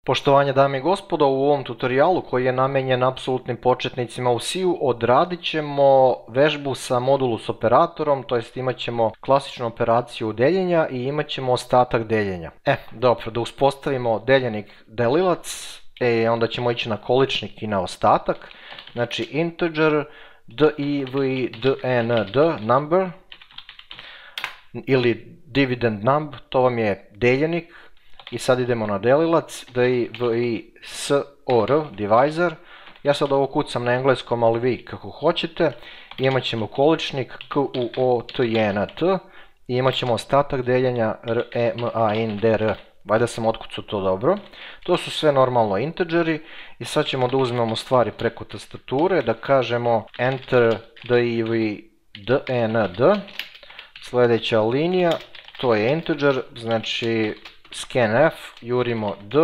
Poštovanje dame i gospodo, u ovom tutorijalu koji je namenjen apsolutnim početnicima u C-u odradit ćemo vežbu sa modulus operatorom, to jest imat ćemo klasičnu operaciju deljenja i imat ćemo ostatak deljenja. Dobro, da uspostavimo deljenik delilac, onda ćemo ići na količnik i na ostatak, znači integer divdnd number ili dividend numb, to vam je deljenik. I sad idemo na delilac, divisor, divisor. Ja sad ovo kucam na engleskom, ali vi kako hoćete. Imat ćemo količnik kuotjnt i imat ćemo ostatak deljenja remainder. Valjda sam otkucao to dobro. To su sve normalno integeri i sad ćemo da uzmemo stvari preko tastature, da kažemo enter divdnd. Sljedeća linija, to je integer, znači scanf, jurimo d,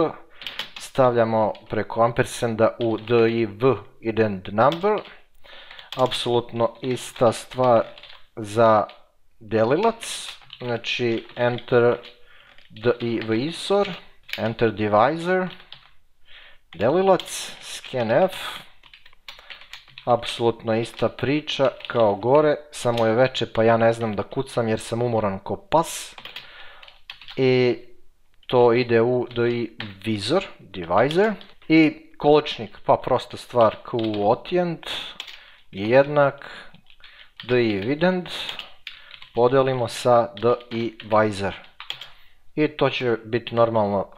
stavljamo preko ampersenda u divdnd number, apsolutno ista stvar za delilac, znači enter divisor, enter divisor, delilac, scanf, apsolutno ista priča kao gore, samo je veče pa ja ne znam da kucam jer sam umoran ko pas. I to ide u divisor i količnik, pa prosta stvar, quotient je jednak dividend, podelimo sa divisor i to će biti normalno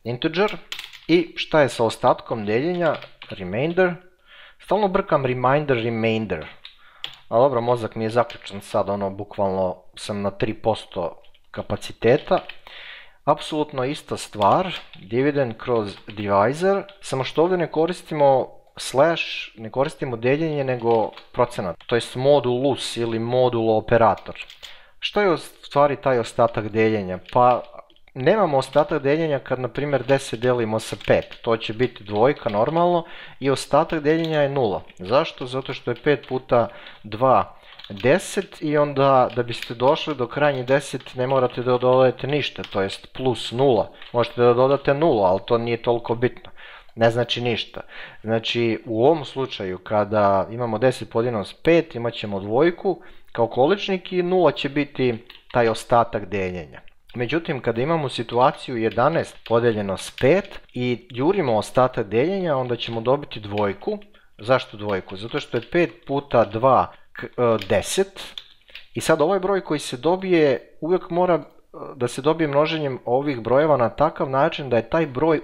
integer. I šta je sa ostatkom deljenja? Remainder, stalno brkam remainder, a dobro, mozak mi je zaključan sad, bukvalno sam na 3% kapaciteta. Apsolutno ista stvar, dividend kroz divisor, samo što ovdje ne koristimo slash, ne koristimo deljenje nego procenat, to jest modulus ili modulo operator. Što je u stvari taj ostatak deljenja? Pa nemamo ostatak deljenja kad na primjer 10 delimo sa 5, to će biti dvojka normalno i ostatak deljenja je 0. Zašto? Zato što je 5 puta 2 10 i onda da biste došli do krajnjih 10 ne morate da dodajete ništa, to jest plus 0. Možete da dodate 0, ali to nije toliko bitno. Ne znači ništa. Znači u ovom slučaju kada imamo 10 podijeljeno s 5 imat ćemo dvojku kao količnik i 0 će biti taj ostatak deljenja. Međutim, kada imamo situaciju 11 podijeljeno s 5 i jurimo ostatak deljenja, onda ćemo dobiti dvojku. Zašto dvojku? Zato što je 5 puta 2 10 i sad ovaj broj koji se dobije uvijek mora da se dobije množenjem ovih brojeva na takav način da je taj broj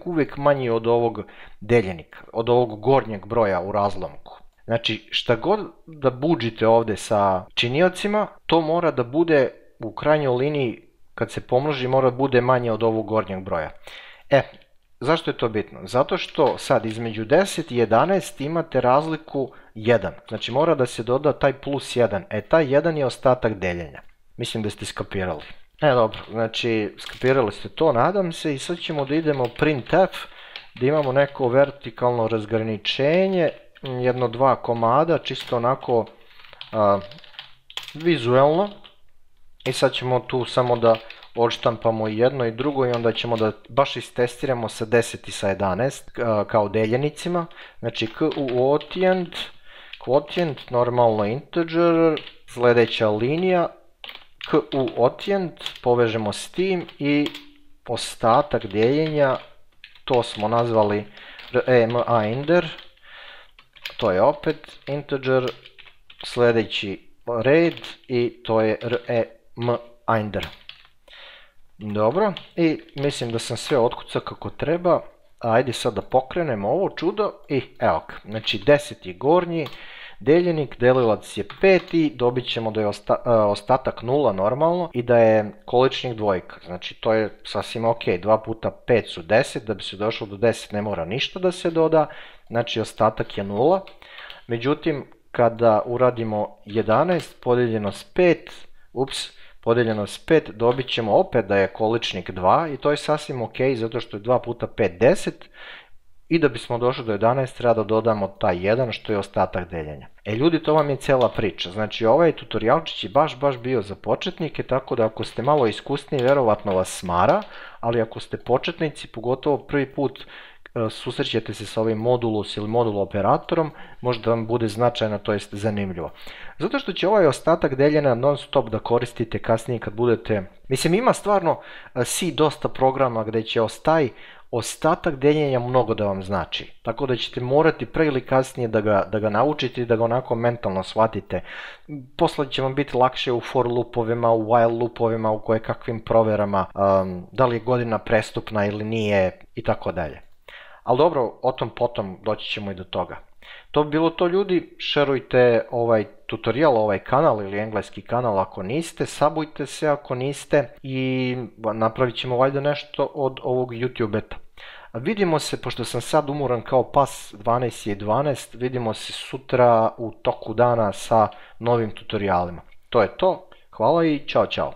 uvijek manji od ovog deljenika, od ovog gornjeg broja u razlomku. Znači šta god da budžite ovdje sa činiocima, to mora da bude u krajnjoj liniji kad se pomnoži mora da bude manje od ovog gornjeg broja. Zašto je to bitno? Zato što sad između 10 i 11 imate razliku 1. Znači mora da se doda taj plus 1. Taj 1 je ostatak deljenja. Mislim da ste skapirali. Dobro, znači skapirali ste to, nadam se. I sad ćemo da idemo printf, da imamo neko vertikalno razgraničenje, jedno dva komada, čisto onako vizuelno. I sad ćemo tu samo da odštampamo jedno i drugo i onda ćemo da baš istestiramo sa 10 i sa 11 kao deljenicima. Znači quotient, normalno integer, sljedeća linija, quotient, povežemo s tim i ostatak deljenja, to smo nazvali remainder, to je opet integer, sljedeći red i to je remainder. Dobro, i mislim da sam sve otkucao kako treba. Ajde sad da pokrenemo ovo čudo i evo ga. Znači 10 je gornji deljenik, delilac je 5 i dobit ćemo da je ostatak 0 normalno i da je količnik dvojka. Znači to je sasvim ok, 2 puta 5 su 10, da bi se došlo do 10 ne mora ništa da se doda, znači ostatak je 0. Međutim, kada uradimo 11 podijeljeno s 5, podijeljeno s 5 dobit ćemo opet da je količnik 2 i to je sasvim ok zato što je 2 puta 5 10 I da bismo došli do 11 treba da dodamo taj 1 što je ostatak deljenja. Ljudi, to vam je cijela priča. Znači ovaj tutorijalčić je baš bio za početnike, tako da ako ste malo iskusniji verovatno vas smara, ali ako ste početnici, pogotovo prvi put susrećete se sa ovim modulus ili modul operatorom, možda vam bude značajno, to jest zanimljivo. Zato što će ovaj ostatak deljenja non stop da koristite kasnije kad budete, mislim ima stvarno C dosta programa gde će ostatak deljenja mnogo da vam znači. Tako da ćete morati pre ili kasnije da ga naučite i da ga onako mentalno shvatite. Posle će vam biti lakše u for loopovima, u while loopovima, u kojekakvim proverama, da li je godina prestupna ili nije i tako dalje. Ali dobro, o tom potom doći ćemo i do toga. To bi bilo to, ljudi, šerujte ovaj tutorial, ovaj kanal ili engleski kanal ako niste, sabujte se ako niste i napravit ćemo valjda nešto od ovog YouTube beta. Vidimo se, pošto sam sad umoran kao pas, 12:12, vidimo se sutra u toku dana sa novim tutorijalima. To je to, hvala i čao.